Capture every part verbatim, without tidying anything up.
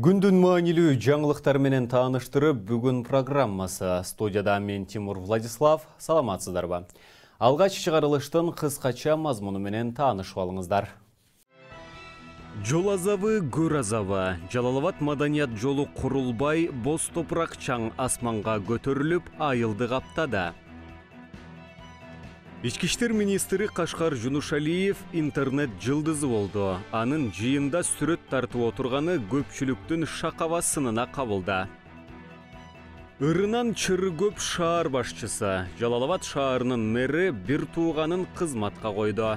Күндүн маанилүү жаңылыктар менен тааныштырып, бүгүн программасы. Студияда мен Тимур Владислав. Саламатсыздарбы? Алгач чыгарылыштын кыскача мазмуну менен таанышып алыңыздар. Жол азабы, көр азабы. Жалал-Абад маданият жолу курулбай, боз топурак чаң асманга көтөрүлүп, айылды каптады. Ички иштер министри Кашкар Жунушалиев интернет жылдызы болду. Анын жыйында сүрөт тартып отурганы көпчүлүктүн шакабасынына кабылды. Ырынан чыры көп шаар башчысы. Жалал-Абад шаарынын мэри бир тууганын кызматка койду.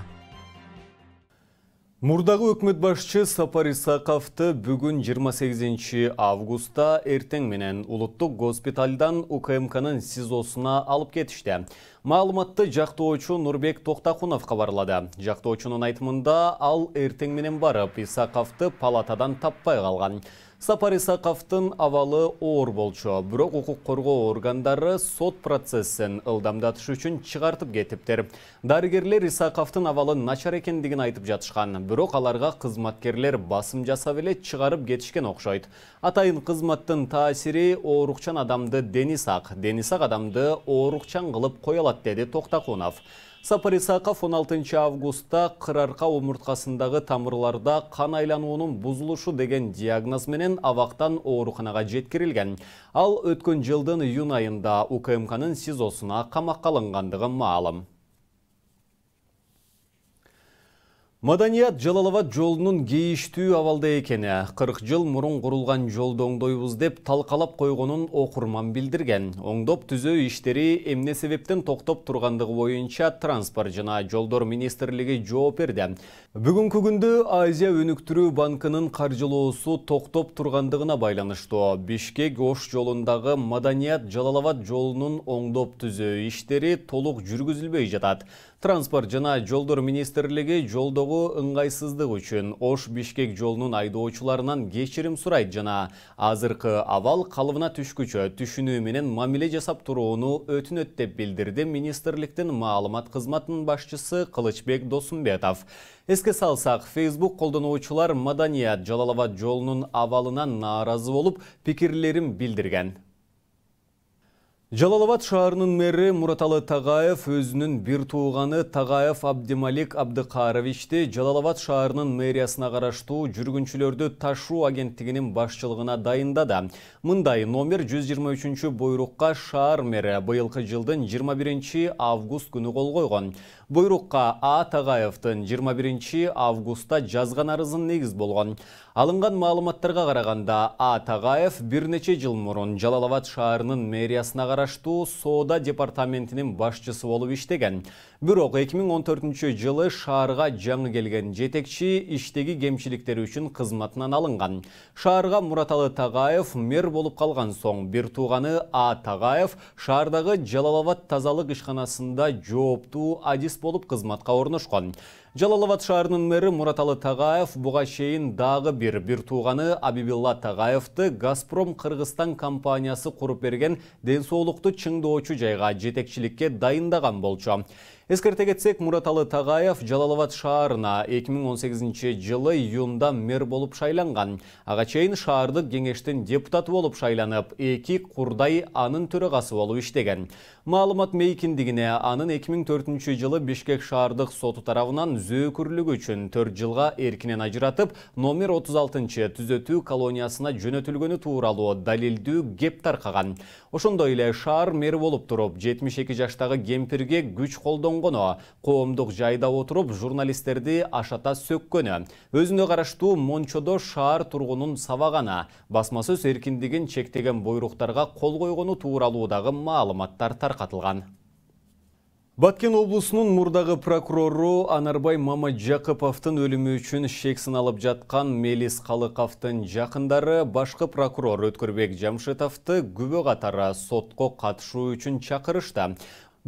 Мурдагы өкмөт башчы Сапар Исаковду бүгүн жыйырма сегизинчи августта эртең менен улуттук госпиталдан У К М К'нын СИЗОсуна алып кетишти. Маалыматты жактоочу Нурбек Токтакунов кабарлады. Жактоочунун айтымында ал эртең менен барып Исаковду палатадан таппай калган. Сапар Исаковдун абалы оор болчу, бирок укук коргоо органдары сот процессин ылдамдатыш үчүн чыгартып кетиптир. Дарыгерлер Исаковдун абалын начар экендигин айтып жатышкан, бирок аларга кызматкерлер басым жасап эле чыгарып кетишкен окшойт. Атайын кызматтын таасири оорукчан адамды дени сак, дени сак адамды оорукчан кылып кое алат, деди Токтакунов. Сапар Исаков он алтынчы августта кырарка омурткасындагы тамырларда кан айлануунун бузулушу деген диагноз менен абактан ооруканага жеткирилген. Ал өткөн жылдын июнь айында У К М К'нын СИЗОсуна камакка алынгандыгы маалым. Маданият Жалал-Абад жолунун кейиштүү абалда экени, кырк жыл мурун курулган жолду оңдойбуз деп талкалап койгонун окурман билдирген. Оңдоп түзөө иштери эмне себептен токтоп тургандыгы боюнча Транспорт жана жолдор министрлиги жооп берди. Бүгүнкү күндө Азия өнүктүрүү банкынын каржылоосу токтоп тургандыгына байланыштуу Бишкек-Ош жолундагы Маданият Жалал-Абад жолунун оңдоп түзөө иштери толук жүргүзүлбөй жатат. Транспорт жана жолдор министрлиги жолдогу ыңгайсыздык үчүн Ош-Бишкек жолунун айдоочуларынан кечирим сурайт жана азыркы абал калыбына түшкүчө түшүнүү менен мамиле жасап турууну өтүнөт деп билдирди министрликтин маалымат кызматынын башчысы Кылычбек Досумбетов. Эске салсак, Facebook колдонуучулар Маданият Жалал-Абад жолунун абалынан нааразы болуп, пикирлерин билдирген. Жалал-Абад шаарынын мэри Мураталы Тагаев өзүнүн бир тууганы Тагаев Абдималик Абдыкаровичти Жалал-Абад шаарынын мэриясына караштуу жүргүнчүлөрдү ташуу агенттигинин башчылыгына дайындады. Мындай номер жүз жыйырма үчүнчү буйрукка шаар мэри быйылкы жылдын жыйырма биринчи август күнү кол койгон. Буйрукка А. Тагаевдин жыйырма биринчи августта жазган арызын негиз болгон. Алынган маалыматтарга караганда А. Тагаев бир нече жыл мурун Жалал-Абад шаарынын мэриясына караштуу соода департаментинин башчысы болуп иштеген. Бирок эки миң он төртүнчү жылы шаарга жаңы келген жетекчи иштеги кемчиликтери үчүн кызматынан алынган. Шаарга Мураталы Тагаев мэр болуп калган соң бир тууганы А. Тагаев шаардагы Жалал-Абад тазалык ишканасында жооптуу адис болуп кызматка орношкон. Жалал-Абад шаарынын мэри Мураталы Тагаев буга чейин дагы бир бир тууганы Абибилла Тагаевди Газпром Кыргызстан компаниясы куруп берген ден соолукту чыңдоочу жайга жетекчиликке дайындаган болчу. Эскерте кетсек, Мураталы Тагаев Жалал-Абад шаарына эки миң он сегизинчи жылы июнда мэр болуп шайланган. Ага чейин шаардык кеңештин депутаты болуп шайланып, эки курдай анын төрагасы болуп иштеген. Маалымат мейкиндигине анын эки миң төртүнчү жылы Бишкек шаардык соту тарабынан зөөкүрлүгү үчүн төрт жылга эркинен ажыратып, номер отуз алтынчы түзөтүү колониясына жөнөтүлгөнү тууралуу далилдүү кеп таркаган. Ошондой эле шаар мэри болуп туруп, жетимиш эки жаштагы кемпирге күч колдонгону, коомдук жайда отуруп журналисттерди ашата сөккөнү, өзүнө караштуу Мончодо шаар тургунун сабаганы, басма сөз эркиндигин чектеген буйруктарга кол койгону тууралуудагы маалыматтар таркатылган. Баткен облусунун мурдагы прокурору Анарбай Мамаджакыповдун өлүмү үчүн шек сыналып жаткан Мелис Калыковдун жакындары башкы прокурор Өткөрбек Жамшитовду күбө катары сотко катышуу үчүн чакырышты.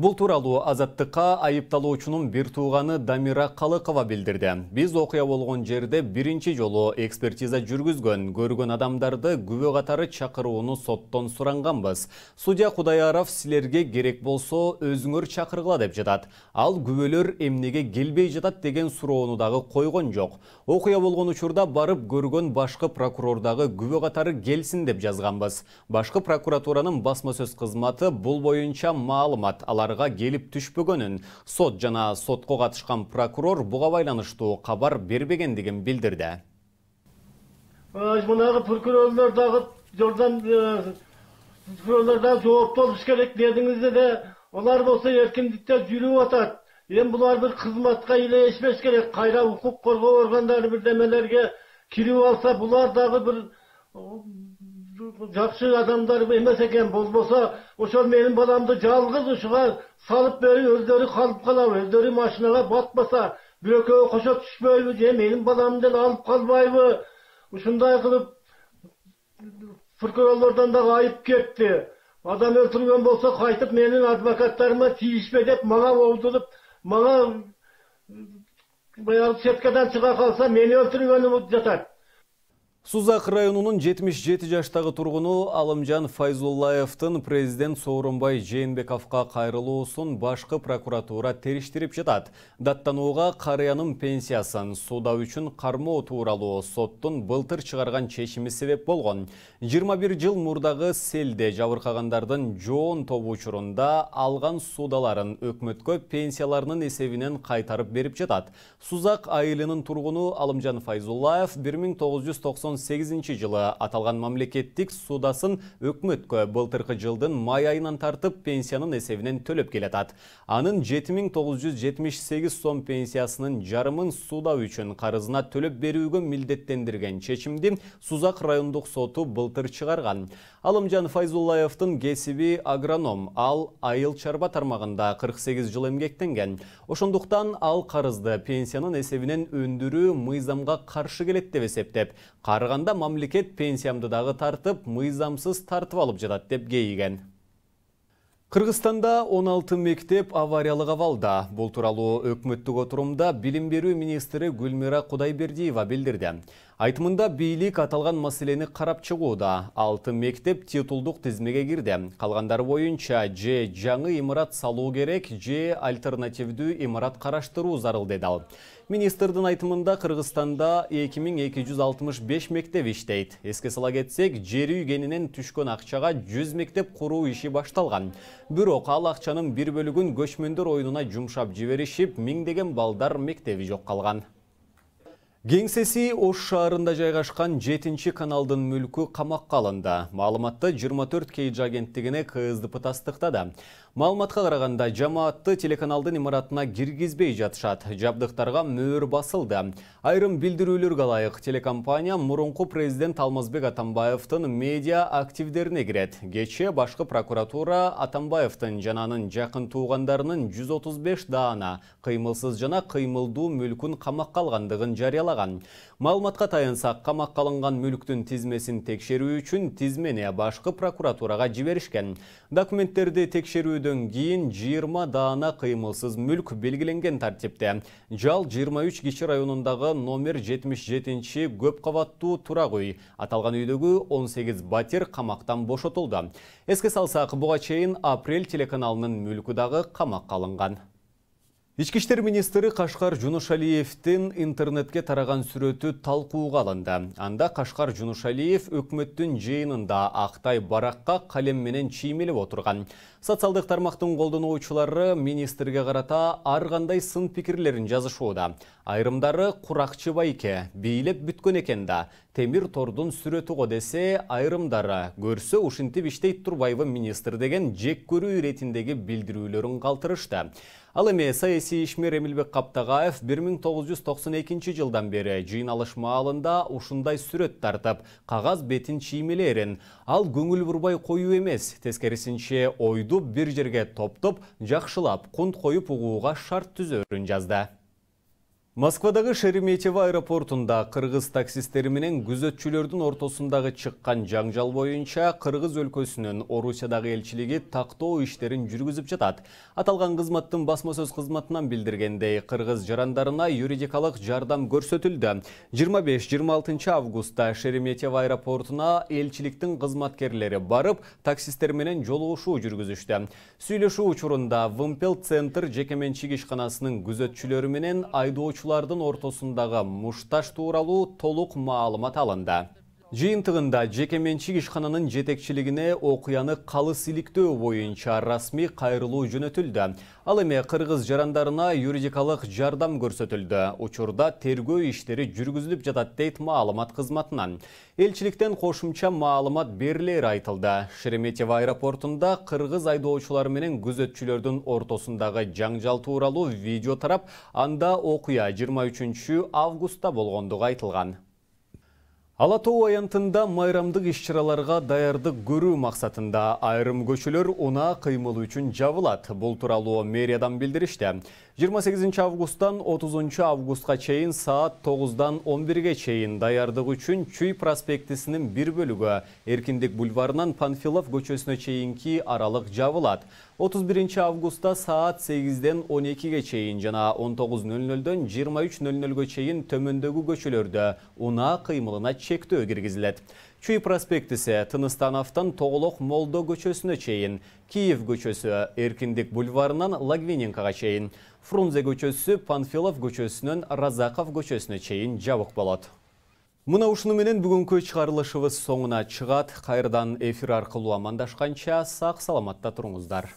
Бул тууралуу Азаттыкка айыпталуучунун бир тууганы Дамира Калыкова билдирди. Биз окуя болгон жерде биринчи жолу экспертиза жүргүзгөн, көргөн адамдарды күбө катары чакырууну соттон суранганбыз. Судья Кудайаров силерге керек болсо өзүңөр чакыргыла деп жатат. Ал күбөлөр эмнеге келбей жатат деген суроону дагы койгон жок. Окуя болгон учурда барып көргөн башкы прокурор дагы күбө катары келсин деп жазганбыз. Башкы прокуратуранын басма сөз кызматы бул боюнча маалымат алар келип түшпөгөнүн, сот жана сотко катышкан прокурор буга байланыштуу кабар бербегендигин билдирди. Мынагы прокурорлор дагы жордан прокурорлор дагы жоопту болуш керек дедиңиз де, алар болсо эркиндикте жүрүп атат. Эми булар бир кызматка илешпеш керек, кайра укук коргоо органдары бирдемелерге кирип алса, булар дагы бир жакшы адамдар эмес экен. Болбосо ошол менин баламды жалгыз ушуга салып берип өздөрү калып калабы, өздөрү машинага батпаса, бирөкөө кошо түшпөйбү же менин баламды алып калбайбы? Ушундай кылып прокурорлордон дагы айып кетти. Адам өлтүргөн болсо кайтып менин адвокаттарыма тийишпе деп мага оудуруп, мага баягы четкадан чыга калса мени өлтүргөнү жатат. Сузак районунун жетимиш жети жаштагы тургуну Алымжан Файзуллаевдин президент Сооронбай Жээнбековго кайрылуусун башкы прокуратура териштирип жатат. Даттанууга карыянын пенсиясын суда үчүн кармоо тууралуу соттун былтыр чыгарган чечими себеп болгон. жыйырма бир жыл мурдагы селде жабыркагандардын жоон тобу учурунда алган судаларын өкмөткө пенсияларынын эсебинен кайтарып берип жатат. Сузак айылынын тургуну Алымжан Файзуллаев бир миң тогуз жүз токсон сегизинчи жылы аталган мамлекеттик судасын өкмөткө былтыркы жылдын май айынан тартып пенсиянын эсебинен төлөп келатат. Анын жети миң тогуз жүз жетимиш сегиз сом пенсиясынын жарымын суда үчүн карызына төлөп берүүгө милдеттендирген чечимди Сузак райондук соту былтыр чыгарган. Алымжан Файзуллаевдин кесиби агроном, ал айыл чарба тармагында кырк сегиз жыл эмгектенген. Ошондуктан ал карызды пенсиянын эсебинен өндүрүү мыйзамга каршы келет деп эсептеп, карыганда мамлекет пенсиямды дагы тартып, мыйзамсыз тартып алып жатат деп кейиген. Кыргызстанда он алты мектеп авариялык абалда. Бул тууралуу өкмөттүк отурумда билим берүү министри Гүлмира Кудайбердиева билдирди. Айтымында бийлик аталган маселени карап чыгууда. алты мектеп титулдук тизмеге кирди. Калгандары боюнча же жаңы имарат салуу керек, же альтернативдүү имарат караштыруу зарыл деди ал. Министрдин айтымында Кыргызстанда эки миң эки жүз алтымыш беш мектеп иштейт. Эске сала кетсек, жер үйгенинен түшкөн акчага жүз мектеп куруу иши башталган. Бирок ал акчанын бир бөлүгүн көчмөндөр оюнуна жумшап жиберишип, миңдеген балдар мектеби жок калган. Кеңсеси Ош шаарында жайгашкан жетинчи каналдын мүлкү камакка алынды. Маалыматты жыйырма төрт кей агенттигине К С Д П тастыктады. Маалыматка караганда жамаатты телеканалдын имаратына киргизбей жатышат. Жабдыктарга мөөр басылды. Айрым билдирүүлөргө ылайык телекомпания мурунку президент Алмазбек Атамбаевдин медиа активдерине кирет. Кечээ башкы прокуратура Атамбаевдин жана анын жакын туугандарынын жүз отуз беш даана кыймылсыз жана кыймылдуу мүлкүн камакка алгандыгын жарыялаган. Маалыматка таянсак, камакка алынган мүлктүн тизмесин текшерүү үчүн тизмени башкы прокуратурага жиберишкен. Документтерди текшерүүдөн кийин жыйырма даана кыймылсыз мүлк белгиленген тартипте. Жал жыйырма үч киши районундагы номер жетимиш жетинчи көп кабаттуу турак үй. Аталган үйдөгү он сегиз батир камактан бошотулду. Эске салсак, буга чейин Апрель телеканалынын мүлкү дагы камакка алынган. Ички иштер министри Кашкар Жунушалиевдин интернетке тараган сүрөтү талкууга алынды. Анда Кашкар Жунушалиев өкмөттүн жыйынында Актай баракка калем менен чиймелеп отурган. Социалдык тармактын колдонуучулары министрге карата ар кандай сын пикирлерин жазышууда. Айрымдары куракчы байке, бийлеп бүткөн экен да, темир тордун сүрөтү го десе, айрымдары көрсө ушинтип иштейт турбайбы министр деген жек көрүү иретиндеги билдирүүлөрүн калтырышты. Ал эми саясий ишмер Эмилбек Каптагаев бир миң тогуз жүз токсон экинчи жылдан бери жыйналыш маалында ушундай сүрөт тартып, кагаз бетин чиймелерин. Ал көңүл бурбай коюу эмес, тескерисинче ойду бир жерге топтоп, жакшылап, кунт коюп угууга шарт түзөрүн жазды. Москвадагы Шереметьево аэропортунда кыргыз таксисттери менен күзөтчүлөрдүн ортосундагы чыккан жаңжал боюнча Кыргыз өлкөсүнүн Орусиядагы элчилиги тактоо иштерин жүргүзүп жатат. Аталган кызматтын басма сөз кызматынан билдиргендей, кыргыз жарандарына юридикалык жардам көрсөтүлдү. жыйырма беш жыйырма алтынчы августта Шереметьево аэропортуна элчиликтин кызматкерлери барып, таксисттер менен жолугушуу жүргүзүштү. Сүйлөшүү учурунда Вымпел центр жекеменчик ишканасынын күзөтчүлөрү менен айдоочулар Лардын ортосундагы мушташ тууралуу толук маалымат алынды. Жыйынтыгында жекеменчик ишкананын жетекчилигине окуяны калыс иликтөө боюнча расмий кайрылуу жөнөтүлдү. Ал эми кыргыз жарандарына юридикалык жардам көрсөтүлдү. Учурда тергөө иштери жүргүзүлүп жатат дейт маалымат кызматынан. Элчиликтен кошумча маалымат берилери айтылды. Шереметьево аэропортунда кыргыз айдоочулар менен күзөтчүлөрдүн ортосундагы жаңжал тууралуу видео тарап, анда окуя жыйырма үчүнчү августта болгондугу айтылган. Ала Тоо аянтында майрамдык иш-чараларга даярдык көрүү максатында айрым көчөлөр унаа кыймылы үчүн жабылат. Бул тууралуу мэриядан билдиришти. жыйырма сегизинчи августтан отузунчу августка чейин саат тогуздан он бирге чейин даярдык үчүн Чүй проспектисинин бир бөлүгү Эркиндик бульварынан Панфилов көчөсүнө чейинки аралык жабылат. отуз биринчи августта саат сегизден он экиге чейин жана он тогуз ноль нолдон жыйырма үч ноль нолго чейин төмөндөгү көчөлөрдө унаа кыймылына чектөө киргизилет. Чүй проспектиси Тыныстановтан Тоголок Молдо көчөсүнө чейин, Киев көчөсү Эркиндик бульварынан Лагвиненкага чейин, Фрунзе көчөсү Панфилов көчөсүнөн Разаков көчөсүнө чейин жабык болот. Мына ушуну менен бүгүнкү чыгарылышыбыз соңуна чыгат. Кайрадан эфир аркылуу амандашканча сак саламатта туруңуздар.